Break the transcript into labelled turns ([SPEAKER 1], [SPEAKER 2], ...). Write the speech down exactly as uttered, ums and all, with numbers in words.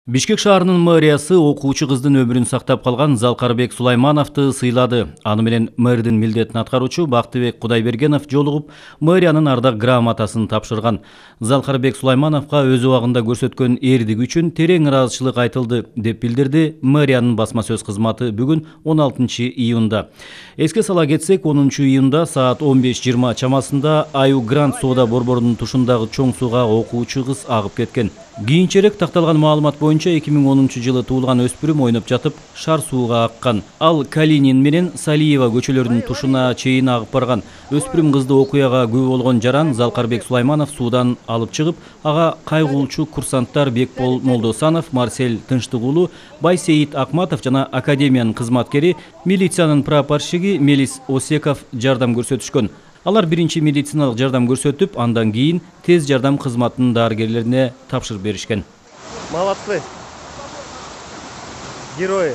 [SPEAKER 1] Бишкек шаарынын мэриясы окуучу кыздын өмүрүн сактап калган Залкарбек Сулаймановду сыйлады. Аны менен мэрдин милдетин аткаруучу Бактыбек Кудайбергенов жолугуп, мэриянын ардак грамотасын тапшырган. Залкарбек Сулаймановго өз убагында көрсөткөн эрдиги үчүн терең ыраазычылык айтылды, деп билдирди мэриянын басма сөз кызматы бүгүн он алтынчы июнда. Эске сала кетсек, онунчу июнда саат он беш жыйырма чамасында Аю Грант соода борборунун тушундагы чоң сууга окуучу кыз агып кеткен. Кийинчерээк такталган маалымат боюнча эки миң онунчу жылы туулган өспүрүм ойноп жатып шар сууга аккан. Ал Калинин менен Салиева көчөлөрүнүн тушуна чейин агып барган. Өспүрүм кызды окуяга күбө болгон жаран Залкарбек Сулайманов суудан алып чыгып, ага кайгуулчу курсанттар Бекбол Молдосанов, Марсель Тынчтыгулу, Байсейит Акматов жана академиянын кызматкери, милициянын прапорщиги Мелис Осеков жардам көрсөтүшкөн. Алар биринчи медициналык жардам көрсөтүп, андан кийин тез жардам кызматынын дарыгерлерине тапшырып беришкен.
[SPEAKER 2] Молодцы. Герои.